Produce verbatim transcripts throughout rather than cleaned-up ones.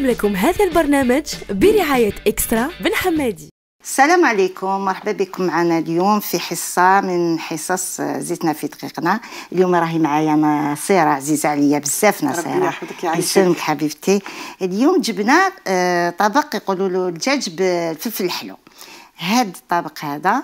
نقدم لكم هذا البرنامج برعاية إكسترا بن حمادي. السلام عليكم، مرحبا بكم معنا اليوم في حصة من حصص زيتنا في دقيقنا. اليوم راهي معايا نصيرة عزيزة عليا بزاف. نصيرة ربي يحفظك يا عيشة. يسلمك حبيبتي. اليوم جبنا طبق يقولوا له الدجاج بالفلفل الحلو. هاد الطبق هذا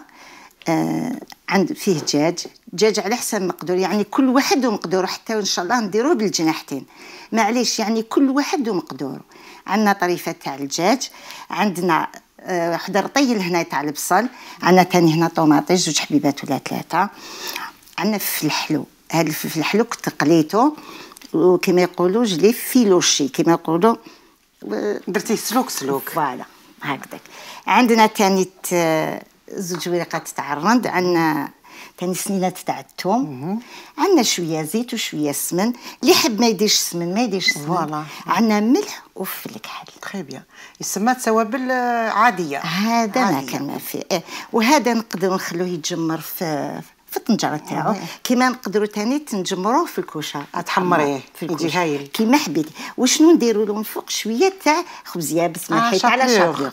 عند فيه دجاج دجاج على حسب مقدور، يعني كل واحد ومقدوره، حتى ان شاء الله نديروه بالجناحتين معليش، يعني كل واحد ومقدوره. عندنا طريفه تاع الدجاج، عندنا واحد رطيل هنا تاع البصل، عندنا ثاني هنا طوماطيش زوج حبيبات ولا ثلاثه، عندنا فلفل الحلو. هذا الفلفل الحلو كنت قليته وكما يقولوا جلي فيلوشي كما يقولوا، درتيه سلوك سلوك فوالا هكذاك. عندنا ثاني زوج ورقات تاع الرند، عندنا ثاني سنينات تاع الثوم، عندنا شويه زيت وشويه سمن، اللي يحب ما يديرش سمن ما يديرش سمن. فوالا عندنا ملح وفلفل كحل. تري بيان، يسمى توابل عاديه. هذا ما كان ما فيه. إيه. وهذا نقدروا نخلوه يتجمر في في الطنجره تاعو، كيما نقدروا ثاني تنجمروه في الكوشه تحمريه في يجي هايل كيما حبيتي. وشنو نديروا له من فوق شويه تاع خبز يابس ما حيت على شابلوغ.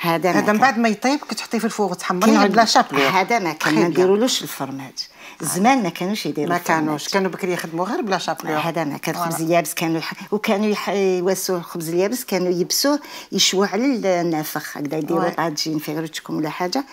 هذا هذا من بعد ما يطيب كتحطيه في الفوغ وتحمريه بلا شابلوغ. هذا ما كان ما نديرولوش الفرماج، زمان ما كانوش يديروا ما كانوش كانوا بكري يخدموا غير بلا شابلوغ. هذا ما كان خبز اليابس، كانوا يح... وكانوا يح... يواسوا الخبز اليابس، كانوا يبسوه يشووا على النافخ هكذا، يديروا طاجين في غيرتكم ولا حاجه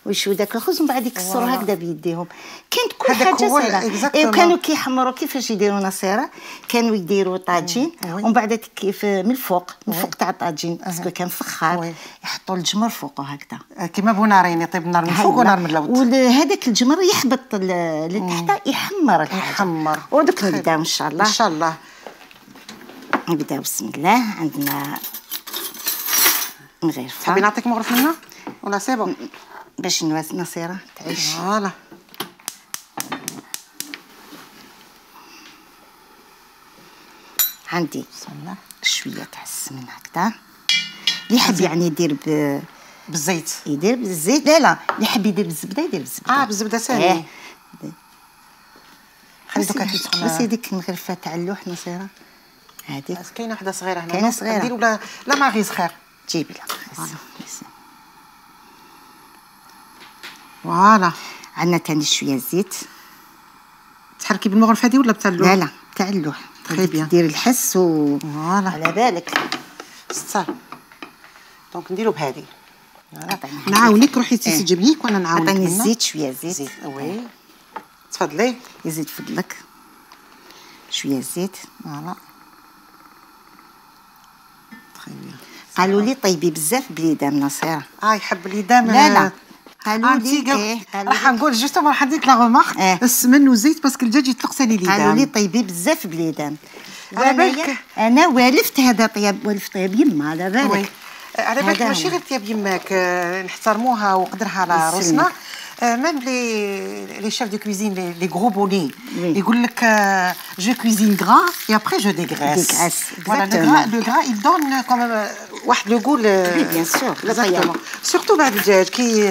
ويشووا داك الخبز ومن بعد يكسروا هكذا بيديهم. كانت كل حاجه سهله. إيه، وكانوا كيحمروا كيفاش يديروا نصيره، كانوا يديروا طاجين ومن بعد كيف من الفوق من فوق تاع الطاجين باسكو كان فخار يحطوا الجمر فوقه هكذا كيما بونارين، يطيب النار من فوق ونار من الأرض، وهذاك الجمر يحبط لتحت يحمر الحاجه يحمر. ودوك نبداو ان شاء الله ان شاء الله نبداو بسم الله. عندنا مغرفه. تحبي نعطيك مغرف منها ولا سي بون باش نواس نصيره تعيش؟ فوالا. عندي بسم الله شويه تاع السمن هكذا، اللي يحب يعني يدير ب بالزيت يدير بالزيت، لا لا اللي يحب يدير بالزبده يدير بالزبده. اه بالزبده ساهله. إيه. خلي دوكا تسخن. بس هذيك المغرفه تاع اللوح نصيره هذيك. كاينه وحده صغيره هنا، كاينه صغيره نديروا لا لا ماغيز خير. جيبي لا فوالا. عندنا ثاني شويه زيت. تحركي بالمغرفه هذه ولا بتاع اللوح؟ لا لا تاع اللوح. تري بيان. ديري الحس و فوالا على بالك ستار. دونك نديرو بهذه. نعطيني نعاونك، روحي تيسي تجيبنيك وانا نعاونك. عطيني الزيت شويه زيت. زيت وي تفضلي. يزيد فضلك شويه زيت. فوالا تري بيان. قالوا لي طيبي بزاف بليدام نصيره. اه يحب اليدام. لا لا قالوا لي إيه راح نقول جوستومون راح نديك لا غومارك. إيه. السمن والزيت باسكو الدجاج يطلق سالي اليدام. قالوا لي طيبي بزاف بليدام. على بالك انا والفت هذا طياب، والفت طياب يما على بالك. على بالك ماشي غير طياب يماك، نحترموها وقدرها على راسنا. ميم لي لي شيف دو كويزين لي غرو بوني يقول لك جو كويزين غرا اي ابري جو ديغريس. فوالا لو غرا يل دون كوم واحد لو غول. بيان سور سورتو بعد الدجاج كي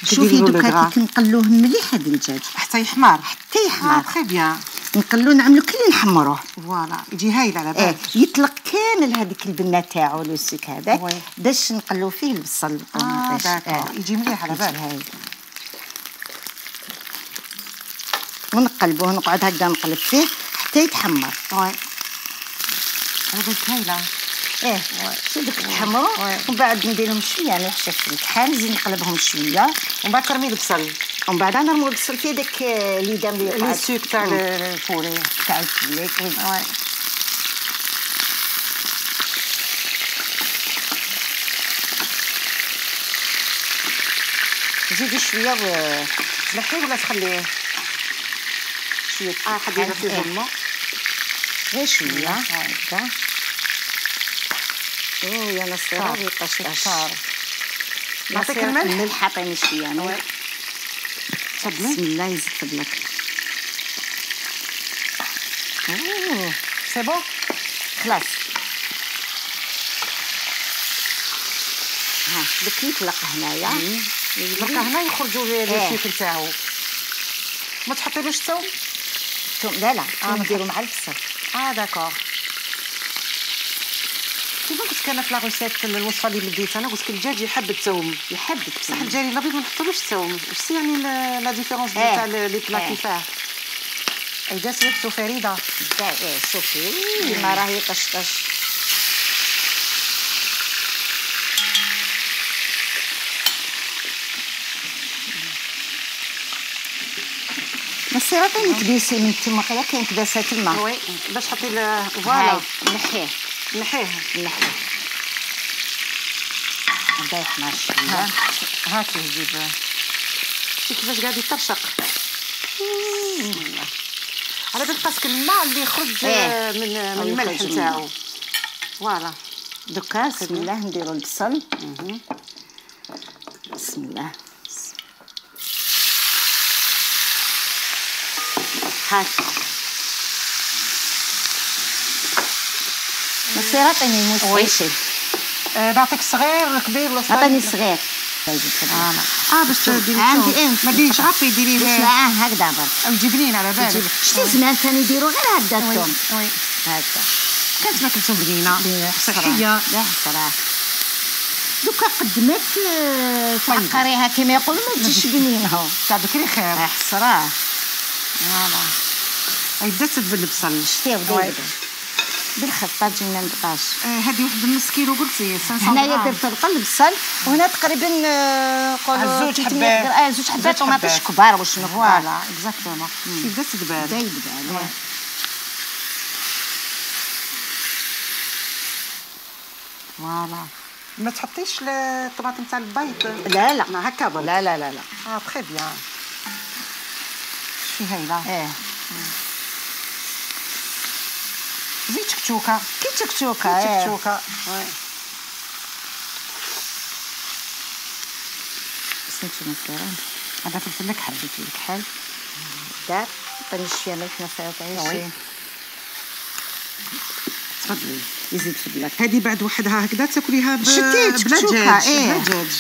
شوفي دوكا كي نقلوه مليح هذا الدجاج حتى يحمر حتى يحمر. تري بيان. نقلو نعملو كي نحمروه. فوالا يجي هايل على بالك. إيه. يطلق كامل هذيك البنه تاعو لو سيك هذاك باش نقلو فيه البصل والطوماطيش. اه يجي مليح على بالك. هايل. ونقلبوه نقعد هكذا نقلب فيه حتى يتحمر. وي على بالك هايله. ايه شي دوك يتحمروا ومن بعد نديرهم شويه ملح شفت الكحل، نزيد نقلبهم شويه ومن بعد ترمي البصل ومن بعد نرمو البصل في داك ليدام اللي لي سوك تاع الفوري تاع الفوري. وي زيدي شويه و تلحيه ولا تخليه شويه. اه خليها في ظلمه غير شويه هكذا. او يا نصيره ريقه شطار. نعطيك الملح. الملح عطيني شويه انا. تفضلي. بسم الله يزيد فضلك. اوه سي بون خلاص. ها دوك يطلق هنايا يطلق هنا يخرجوا لي الشيك نتاعو. ما تحطيلوش الثوم؟ لا لا نديرو مع البصل. اه داكور. كيما قلت لك انا في لا روسيت الوصفه اللي بديت انا قلت لك الدجاج يحب الثوم يحب بصح الجاري الابيض ما نحطولوش الثوم واش سي يعني لا ديفيرونس تاع لي بلا كيفاه اي جات يحسوا فريده ايه شوفي ما راهي طشطش نصير عطيني كبيسي من تما قال كاين كباسه تما وي باش حطي فوالا نحيه نحيه نحيه هذا يحمر شويه هاكي نجيب شتي كيفاش قاعد يطرشق على بالك باسكو الماء اللي يخرج إيه. من من الملح نتاعو فوالا دوكا بسم الله نديرو البصل بسم الله هاكا نصير عطيني موس عيشي نعطيك صغير كبير ولا صغير عطيني صغير اه باش ديري عندي ايه ما ديريش غابي ديريه باش معاه هكذا برك مجبنين على بالك شتي زمان كانوا يديروا غير هكذا الثوم وي هكذا كانت ماكلتهم بنينه صحيه لا صراحه دوكا قدمت تعقريها كما يقولوا ما تجيش بنينه تاع بكري خير صراحه فوالا هاي بدات تدبل البصل شتي بدا بالخطه تجينا نقاش هذه واحد نص كيلو قلتي خمسمية هنايا درت القلب البصل وهنا تقريبا نقولوا زوج حبات اه زوج حبات طوماطيش كبار واش فوالا اكزاكتومون بدات تدبل بدا يدبل فوالا ما تحطيش الطماطم تاع البيض لا لا ما هكا برك لا لا لا لا اه تري بيان شي هايله ايه زيد تكتوكه كي تكتوكه ايه تكتوكه وي سميتو نصيران هذا فلفل الكحل فلفل الكحل دار عطيني شويه ملح نصير عيشي تفضلي يزيد في البلاك هذه بعد وحدها هكذا تاكليها ب... بلا دجاج بلا دجاج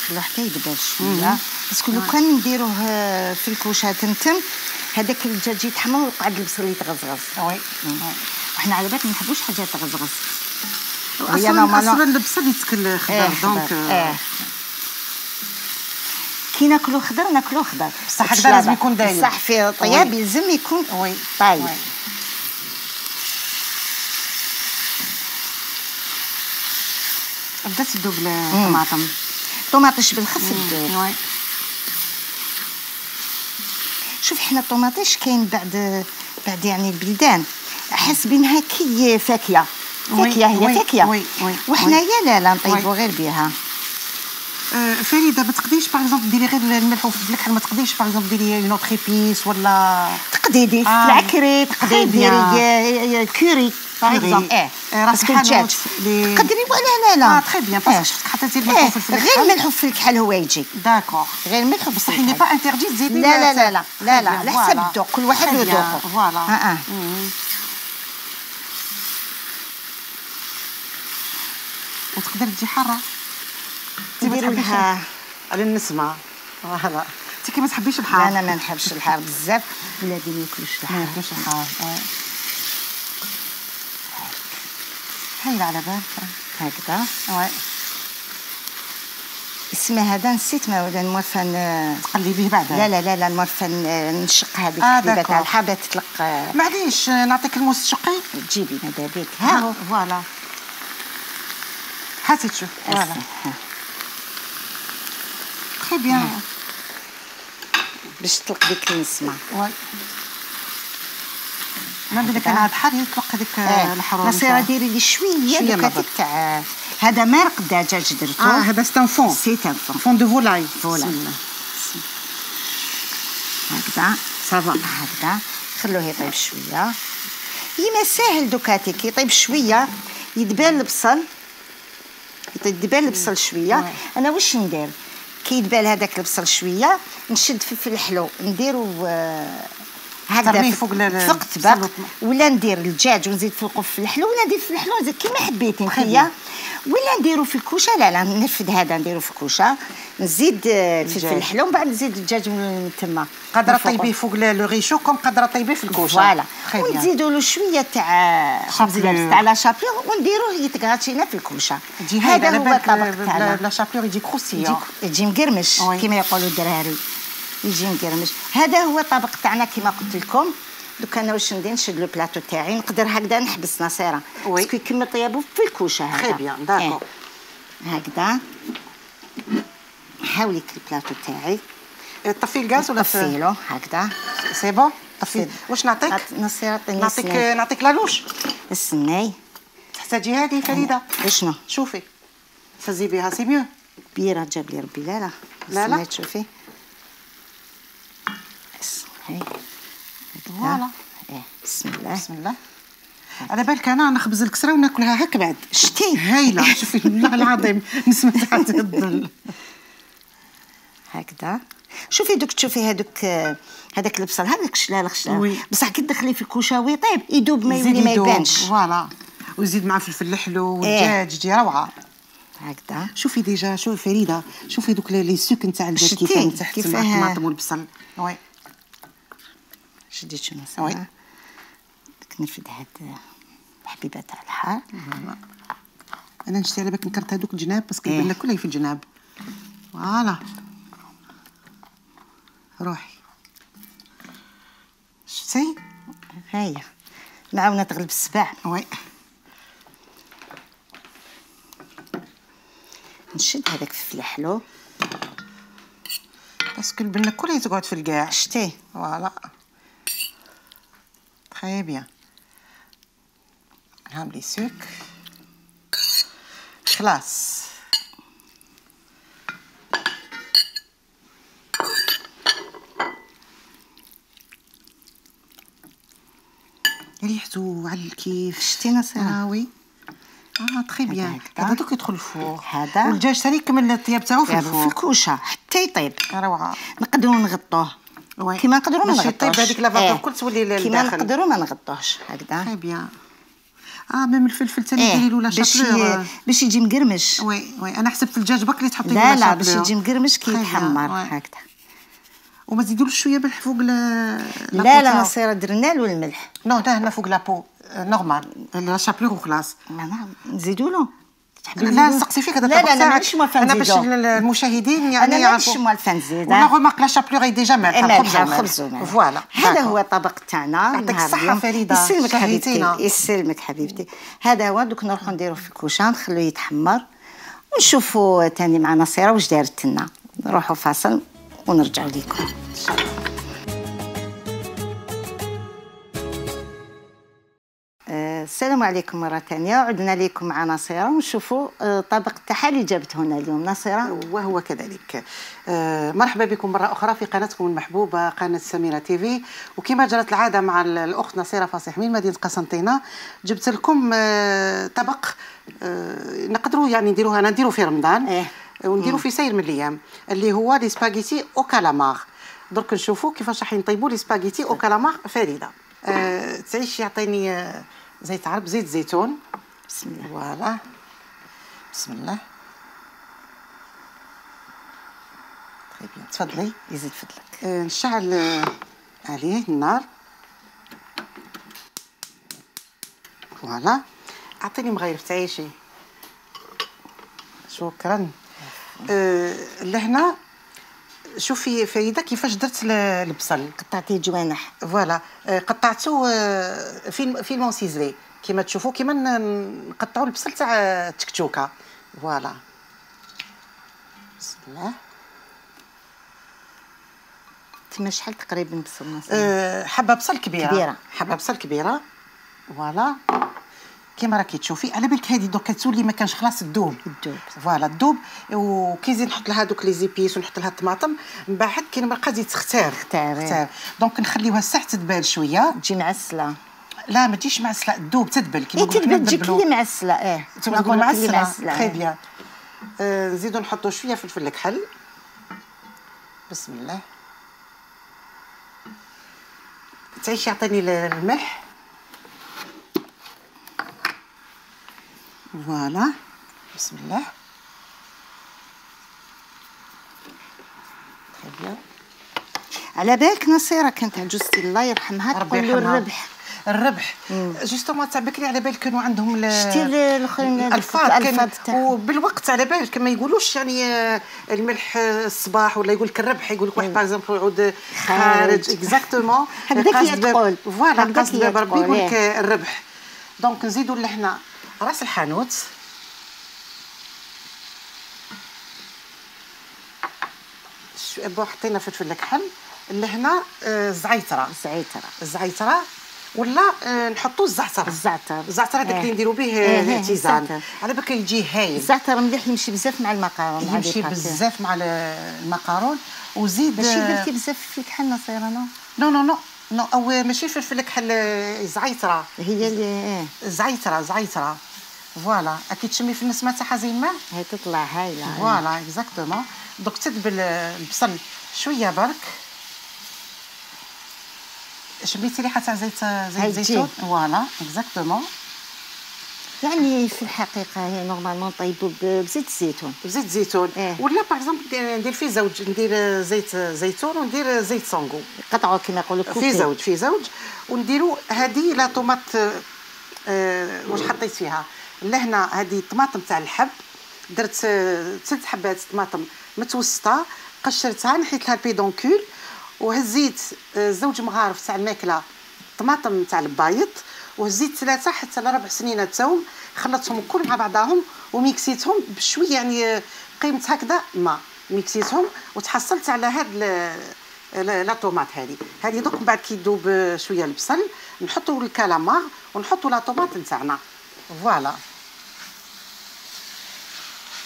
خلوه حتى يدبر شويه باسكو لو كان نديروه في الكوشه تمتم هذاك الدجاج يتحمر ويقعد البصل يتغزغز وي وحنا على بالك ما نحبوش حاجات تغزغز اصلا اصلا البصل يتكل خضر دونك اه كي ناكلو خضر ناكلو خضر بصح هكذا لازم يكون دايب بصح في طياب يلزم يكون وي طايب بدات تذوب الطماطم طوماطيش بالخف تذوب وي شوف حنا الطوماطيش كاين بعد بعد يعني البلدان حاسبينها كي فاكهه فاكهه هي فاكهه وحنايا لا لا نطيبو غير بها فريده ما تقدريش باغ اكزومبل ديري غير الملح وفلفل الكحل ما تقدريش باغ اكزومبل ديري اون اوتر ايبيس ولا تقدري ديري العكري تقدري ديري كوري باغ اكزومبل اه باسكو الدجاج تقدري ولا لا لا اه تري بيان باسكو شفتك حطيتي الملح وفلفل الكحل غير الملح وفلفل الكحل هو يجي داكور غير الملح بصح ني با انتردي تزيدي لا لا لا لا لا لا على حسب الذوق كل واحد له ذوقه فوالا اه اه وتقدر تجي حاره نديرو لها على النسمه فوالا انت كي ما تحبيش الحار لا انا ما نحبش الحار بزاف ولادي ما ياكلوش الحار ما ياكلوش الحار هايله على بالك هكذا وي اسمه هذا نسيت ما ولا المورفان تقلبيه بعدا لا لا لا لا المورفان نشق هذيك آه الحبيبه تاع الحبه تطلق معليش نعطيك الموس تشقي تجيبي ماذا بيك ها هو فوالا هاتي تشوف فوالا تري بيان باش تطلق ديك النسمه وي ما بالك انا هاد حار يطلق هذيك الحراره نصير ديري لي شويه دوكا تاع هذا مرق دجاج درتو اه هذا سي ان فون سي ان فون فون دو فولاي فوالا هكذا صافا هكذا خلوه يطيب شويه يما ساهل دوكاتي كي يطيب شويه يدبال البصل يدبال البصل شويه انا واش ندير كي يدبال هذاك البصل شويه نشد فلفل الحلو نديرو هكذا فوق فوق الطبق ولا ندير الدجاج ونزيد فوقه في الحلو ولا ندير في الحلو نزيد كيما حبيتي نتيا ولا نديرو في الكوشه. لا لا نرفد هذا نديرو في الكوشه، نزيد الفلفل الحلو ومن بعد نزيد الدجاج من تما. قادره طيبيه فوق لو ريشو كوم قادره طيبيه في الكوشه. فوالا ونزيدوا له شويه تاع خبز اليابس تاع لا شابلور ونديروه يتغاتينا في الكوشه. هذا هو الطبق تاعنا. لا شابلور يجي كروسيون، يجي مقرمش كما يقولوا الدراري، يجي مقرمش. هذا هو الطبق تاعنا كما قلت لكم. دوك انا واش ندير نشد لو بلاطو تاعي، نقدر هكذا نحبس نصيره باسكو يكمل طيابو في الكوشه. هذا تري بيان داكور. هكذا نحاول لك البلاطو تاعي. طفي الغاز ولا طفيلو هكذا سي بون. طفي. واش نعطيك؟ نصير عطيني نعطيك نعطيك لالوش. السناي تحتاجي هذه فريده. شنو؟ شوفي فزي بها سي ميو. كبيره جاب لي ربي. لا لا لا لا تشوفي هاي فوالا. ايه بسم الله بسم الله. على بالك انا نخبز الكسره وناكلها هكا بعد. شتي هايله. شوفي والله العظيم نسمع تحت الظل هكذا. شوفي دوك تشوفي هذوك هذاك البصل هذاك شلال خشلال بصح كي تدخليه في الكوشه ويطيب يدوب ما يولي ما يبانش. فوالا ويزيد مع فلفل الحلو والدجاج يجي روعه هكذا. شوفي ديجا شوفي فريده شوفي دوك لي سوك نتاع الدجاج كيفاه تحت مع الطماطم والبصل. وي شديت شنو صافي. داك نرفد هاد الحبيبه تاع الحار. انا نشتي على بالك نكرت هذوك الجناب باسكو البنه كلها في الجناب. فوالا روحي شتي هيا معاونه تغلب السبع. وي نشد هذاك الفلفل الحلو باسكو البنه كلها تقعد في الكاع. شتي فوالا تري بيان. نعمل لي سوك خلاص. ريحته على الكيف. شتي نصيره. وي اه تري بيان. هذا دوك يدخل الفور. هذا والدجاج ثاني يكمل الطياب تاعو في الفور في الكوشه حتى يطيب. روعه. نقدروا نغطوه كيما نقدروا ما نغطوش. باش يطيب هذيك لافاطور الكل تولي للداخل. كيما نقدروا ما نغطوش هكذا. تري بيان. اه ميم الفلفل ثاني ديري له لا شابلور باش يجي مقرمش. وي وي انا حسبت في الدجاج برك اللي تحطي له لا لا لا باش يجي مقرمش كي يتحمر هكذا. وما تزيدولوش شويه ملح فوق لا لا لا نصير درنا له الملح. نو ده هنا فوق لابو نورمال لا شابلور وخلاص. نزيدوا له. لا نسقسي فيك هذا الطبق تاعك. لا لا مانيش موالفه انا باش المشاهدين يعني انا مانيش موالفه نزيد. ولا غومارك لا شابلور ديجا مالحه الخبز. فوالا هذا هو الطبق تاعنا. يعطيك الصحه فريده. يسلمك حبيبتي يسلمك حبيبتي. هذا هو دوك نروحو نديرو في الكوشه نخلوه يتحمر ونشوفوا ثاني مع نصيره واش دارت لنا. نروحوا فاصل ونرجعوا لكم ان شاء الله. السلام عليكم مرة ثانية. عدنا لكم مع نصيرة ونشوفوا طبق تاعها اللي جابته هنا اليوم. نصيرة وهو كذلك. مرحبا بكم مرة أخرى في قناتكم المحبوبة قناة سميرة تيفي. وكما جرت العادة مع الأخت نصيرة فصيح من مدينة قسنطينة جبت لكم طبق نقدروا يعني نديروه أنا نديروه في رمضان إيه؟ ونديروه في سير من الأيام اللي هو لي سباغيتي أو كالامار. درك نشوفوا كيفاش راح نطيبوا لي سباغيتي أو كالامار فريدة. أه تعيش يعطيني أه زيت عرب زيت زيتون. بسم الله. فوالا بسم الله. طيب تفضلي. يزيد فضلك. أه نشعل أه عليه النار. فوالا اعطيني مغيرف تعيشي. شكرا. أه لهنا شوفي فريده كيفاش درت البصل. قطعتيه جوانح. فوالا قطعته في في المونسيزلي كيما تشوفوا كيما نقطعوا البصل تاع التكتوكه. فوالا بسم الله. تما شحال تقريبا بصل نص؟ أه حبه بصل كبيره. كبيره. حبه بصل كبيره. فوالا كيما راكي تشوفي على بالك هذه دوك تولي ما كانش خلاص تذوب. تذوب. فوالا تذوب. وكي نزيد نحط لها دوك لي زيبيس ونحط لها الطماطم من بعد كي نبقى تزيد تختار تختار. دونك نخليوها ساعه تدبال شويه. تجي معسله. لا ما تجيش معسله تذوب تدبل كيما نقولوا. تدبل تجي كلي معسله. اه تما نقول معسله. تري بيان. آه نزيدو نحطو شويه فلفل الكحل. بسم الله. تعيش يعطيني الملح. فوالا بسم الله. تري بيان. على بالك نصيره كانت عجوزتي الله يرحمها تقول له الربح. الربح جوستومون تاع بكري على بالك كانوا عندهم شتي الاخرين الالفاظ وبالوقت على بالك ما يقولوش يعني الملح الصباح ولا يقول لك الربح، يقول لك واحد باغ اكزومبل يعود خارج اكزاكتومون هكذاك تقول فوالا قصد بربي يقول لك الربح. دونك نزيدوا لهنا راس الحانوت بون حطينا فلفل الكحل لهنا الزعيتره الزعيتره الزعيتره ولا نحطوا الزعتر الزعتر الزعتر هذاك اللي نديروا به التيزان على بالك يجي هايل. الزعتر مليح يمشي بزاف مع المقارون يمشي بزاف مع المقارون وزيد ماشي درتي بزاف في الكحل نصيره نو نو نو نو نو او ماشي فلفل الكحل زعيتره هي اللي زعيتره زعيتره فوالا اكيد تشمي في النسمه تاعها زي الماء هي تطلع هايله فوالا اكزاكتومون. دوك تدبل البصل شويه برك شميتي ريحه تاع زيت زيت زيتون فوالا اكزاكتومون. يعني في الحقيقه هي نورمالمون طيبوا بزيت الزيتون بزيت الزيتون إيه؟ ولا باغ اكزومبل ندير في زوج ندير زيت زيتون وندير زيت سونغو قطعوا كما يقولوا في زوج في زوج ونديروا هذه لا طوماط آه واش حطيت فيها لهنا هذه الطماطم تاع الحب درت ست حبات طماطم متوسطه قشرتها نحيت لها البيدونكول وهزيت زوج مغارف تاع الماكله طماطم تاع البايض وهزيت ثلاثه حتى لربع سنينه توم خلطتهم كل مع بعضهم وميكسيتهم بشويه يعني قيمه هكذا ماء ميكسيتهم وتحصلت على هاد لا طوماط هذه هذه دوك من بعد كي يذوب شويه البصل نحطوا الكالامار ونحطوا لا طوماط نتاعنا فوالا.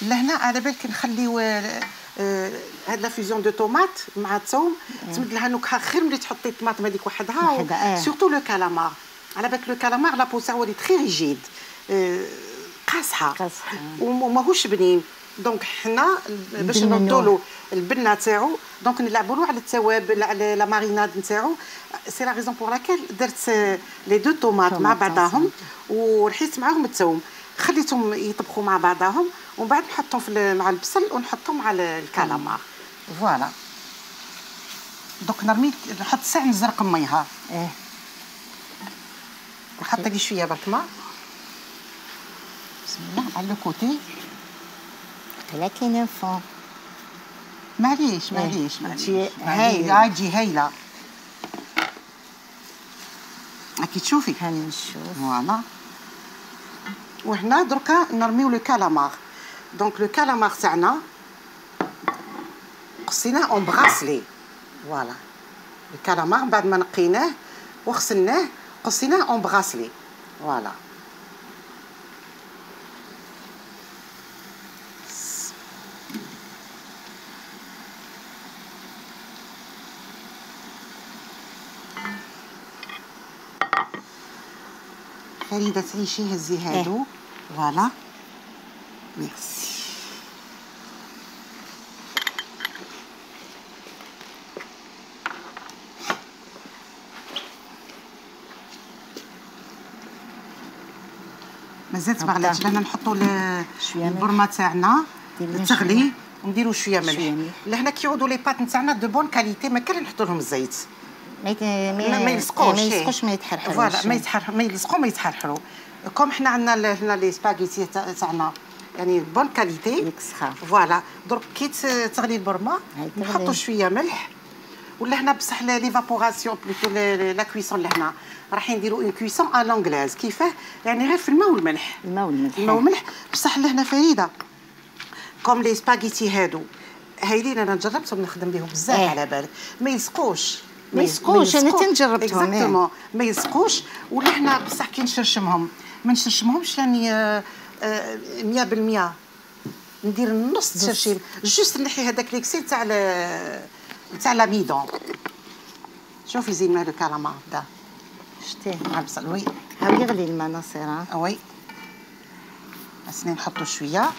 لهنا على بالك نخليو هاد لا فيزيون دو طوماط مع الثوم تمد لها نكهه خير ملي تحطي الطماطم هذيك وحدها سورتو لو كالامار على بالك لو كالامار لا بو تاعو لي تري ريجيد قاصحه وماهوش بنين. دونك حنا باش نردوا له البنه تاعو دونك نلعبوا له على التوابل على لا ماريناد نتاعو. سي لا ريزون بور لاكيل درت لي دو طوماط مع بعضاهم ورحيت معاهم الثوم خليتهم يطبخوا مع بعضاهم ومن بعد نحطهم في مع البصل ونحطهم مع الكالامار فوالا. دوك نرمي نحط ساع نزرق ميها اه نحط لي شويه برك ماء بسم الله على لو كوتي لكن فون معليش معليش معليش هايله تجي هايله كي تشوفي هاني نشوف فوالا. وهنا دركا نرميو لو كالامار دونك لو كالامار تاعنا قصيناه اون براسلي فوالا. الكالامار بعد ما نقيناه وغسلناه قصيناه اون براسلي فوالا. فريدة تعيشي هزي هادو فوالا ميرسي. مازالت ما غلاتش لهنا نحطوا البرمه تاعنا تغلي ونديروا شويه ملح. لهنا كيعودوا لي بات نتاعنا دو بون كاليتي ما كان نحطوا لهم الزيت ما ما يلصقوش ما يلصقوش ما يتحرحروش فوالا ما يتحرح ما يلصقوا ما يتحرحروا. كوم حنا عندنا هنا لي سباغيتي تاعنا يعني بون كاليتي فوالا. درك كي تغلي البرمه نحطوا شويه ملح ولا هنا بصح ليفابوراسيون بلوتو لا كويسون لهنا راح نديروا اون كويسون ا لونغلاز كيفاه يعني غير في الماء والملح الماء والملح الماء والملح بصح لهنا فريده كوم لي سباغيتي هادو هايلين انا جربتهم نخدم بهم بزاف إيه. على بالك ما يلصقوش ما يلصقوش انا تنجربتهم اكزاكتومون ما يلصقوش. ولا حنا بصح كي نشرشمهم ما نشرشمهمش يعني مية بالمية ندير نص تشرشيم جوست نحي هذاك ليكسي تاع تاع لاميدون. شوفي زين مال الكالامار بدا شتيه مع البصل وي ها يغلي الماء نصيره وي خاصني نحطو شويه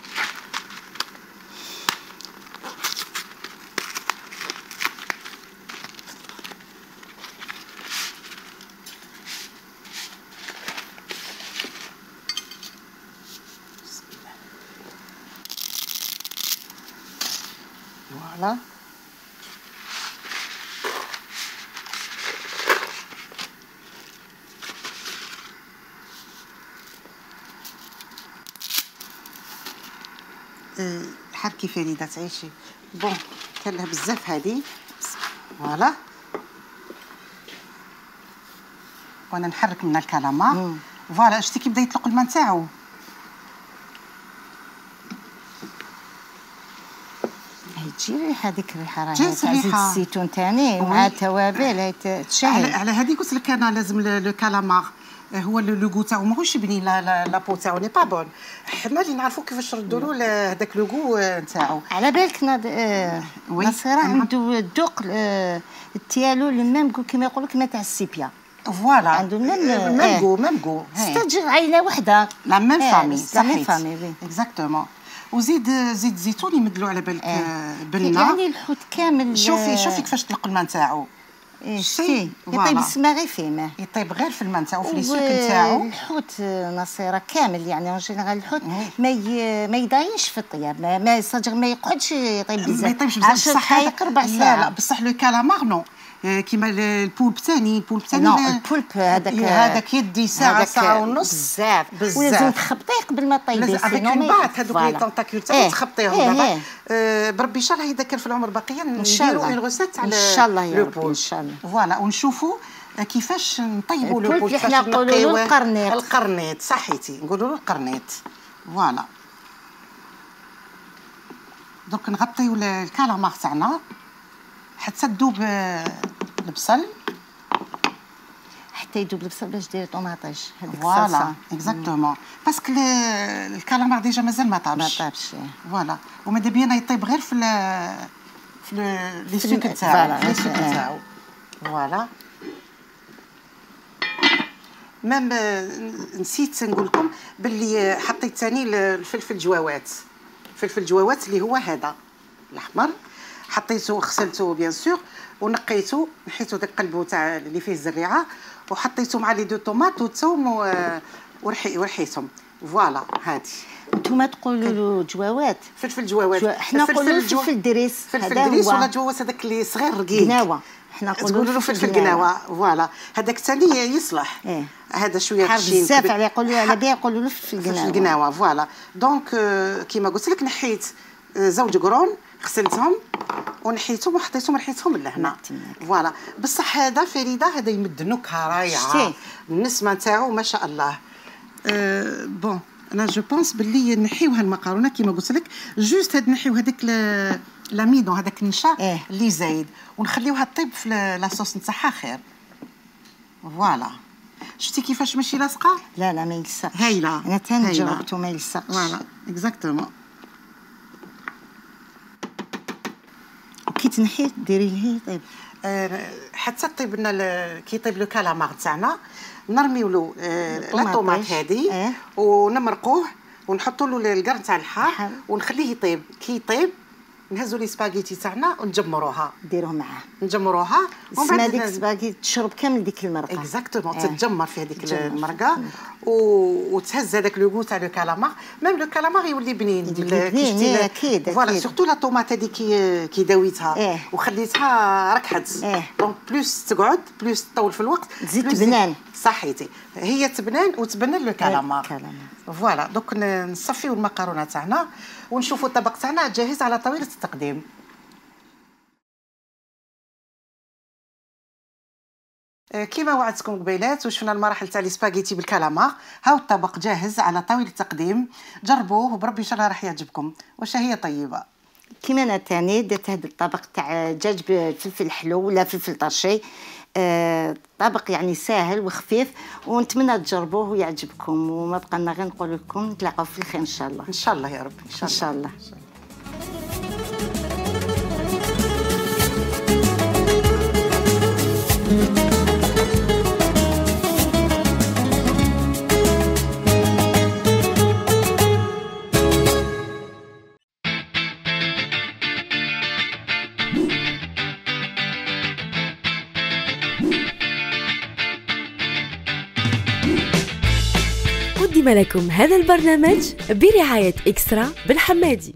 فوالا. حركي فريده تعيشي. بون كان لها بزاف هذه. فوالا وانا نحرك من الكلامار. فوالا شتي كي بدا يطلق الماء نتاعو. تجي ريحه هذيك الريحه راه جات تاع زيت ريحة. الزيتون تاني مع التوابل هاي على, تشهي. على هذه قلت لك انا لازم لو كالامار هو لو غو تاعو ماهوش يبني لا لا لا بو تاعو ني با بون. حنا اللي نعرفوا كيفاش نردوا له هذاك لو غو نتاعو. على بالك ناض آه نصيره عنده الذوق آه التيالو المام كيما يقولوا كيما تاع السيبيا. فوالا عنده المام ميم غو ميم غو ستاجر عائله وحده لا ميم فامي لا ميم فامي وي اكزاكتومون. وزيد زيت زيتون يمدلو على بالك بنه. يعني الحوت كامل. شوفي شوفي كيفاش طلق الماء نتاعو. شتي يطيب السما غير فيه ماء. يطيب غير في الماء نتاعو في لي سوك نتاعو. الحوت نصيره كامل يعني اون جينيرال الحوت ما ي... ما يضاينش في الطياب ما ما صدق ما يقعدش يطيب بزاف. ما يطيبش بزاف بصح دقائق ربع ساعه. لا لا بصح لو كالامار نو كيما البولب ثاني البولب ثاني لا البولب هذاك هذاك يدي ساعه ساعه ونص بزاف بزاف. ولازم تخبطيه قبل ما طيبيه سينو من بعد هذوك لي طونتاكيول تاعو تخبطيهم دابا. بربي ان شاء الله اذا كان في العمر باقيه نديروا اون روسيت على ان شاء الله يا رب ان شاء الله. فوالا ونشوفوا كيفاش نطيبوا لو بول. كيفاش نقولوا له القرنيط. القرنيط صحيتي نقولوا له القرنيط. فوالا دوك نغطيو الكالامار تاعنا حتى تذوب البصل. حتى يذوب البصل باش ديري طوماطيش هذيك الصلصه. فوالا اكزاكتومون باسكو الكالامار ديجا مازال ما طابش. ما طابش فوالا وماذا بينا يطيب غير في في لي سوك تاعو في لي سوك تاعو. فوالا مام نسيت نقول لكم باللي حطيت ثاني الفلفل جواوات. فلفل جواوات اللي هو هذا الاحمر حطيته غسلته بيان سور ونقيته نحيته داك قلبه تاع اللي فيه الزريعه وحطيته مع لي دو طوماط والثوم ورحي ورحيتهم. فوالا هادي. نتوما تقولوا له جواوات. فلفل جواوات. حنا نقولوا له فلفل دريس. فلفل دريس ولا جواوات هذاك اللي صغير رقيق. قناوه. حنا نقولوا له فلفل قناوه. فوالا هذاك الثاني يصلح. إيه. هذا شويه حار بزاف عليه يقولوا على بها يقولوا له فلفل قناوه. فلفل قناوه. فوالا دونك كيما قلت لك نحيت زوج قرون غسلتهم ونحيتهم وحطيتهم ريحتهم لهنا. فوالا بصح هذا فريده هذا يمد نكهه رائعه. النسمه نتاعو ما شاء الله. أه بون انا جو بونس باللي نحيو هالمقارونه كيما قلت لك جوست هاد نحيو هذاك لاميدو هذاك النشا إيه؟ اللي زايد ونخليوها طيب في لاصوص نتاعها خير. فوالا شفتي كيفاش ماشي لاصقه. لا لا ما يلصقش. هايله انا تاني جربته ما يلصقش. فوالا اكزاكتومون. كي تنحي ديري ليه طيب. أه حتى طيب لنا كي يطيب لو كالامار تاعنا نرميو له أه لا طوماط هذه. اه؟ ونمرقوه ونحطوا له القرن تاع الحار ونخليه يطيب. كي يطيب نهزوا لي سباغيتي تاعنا ونجمروها. ديروه معاه. نجمروها ومن بعد هذيك السباغيتي تشرب كامل ديك المرقه. اكزاكتومون. تتجمر في هذيك المرقه وتهز هذاك لو غو تاع لو كالامار. ميم لو كالامار يولي بنين. بنين اكيد. فوالا سورتو لا طوماط هذيك كي كي داويتها إيه؟ وخليتها ركحت. إيه؟ دونك بلوس تقعد بلوس تطول في الوقت تزيد تبنان. صحيتي هي تبنان وتبنن لو كالامار. كالامار. فوالا دوك نصفيو المكرونه تاعنا ونشوفوا الطبق تاعنا جاهز على طاوله التقديم. كيما وعدتكم قبيلات وشفنا المراحل تاع لي سباغيتي بالكالامار. هاو الطبق جاهز على طاوله التقديم. جربوه وبربي ان شاء الله راح يعجبكم. واش هي طيبه. كيما انا تاني درت هذا الطبق تاع دجاج بالفلفل حلو ولا فلفل طرشي. آه طبق يعني ساهل وخفيف ونتمنى تجربوه ويعجبكم. وما بقى لنا غير نقول لكم نتلاقاو في الخير ان شاء الله. ان شاء الله يا رب. ان شاء الله. قدم لكم هذا البرنامج برعاية إكسترا بن حمادي.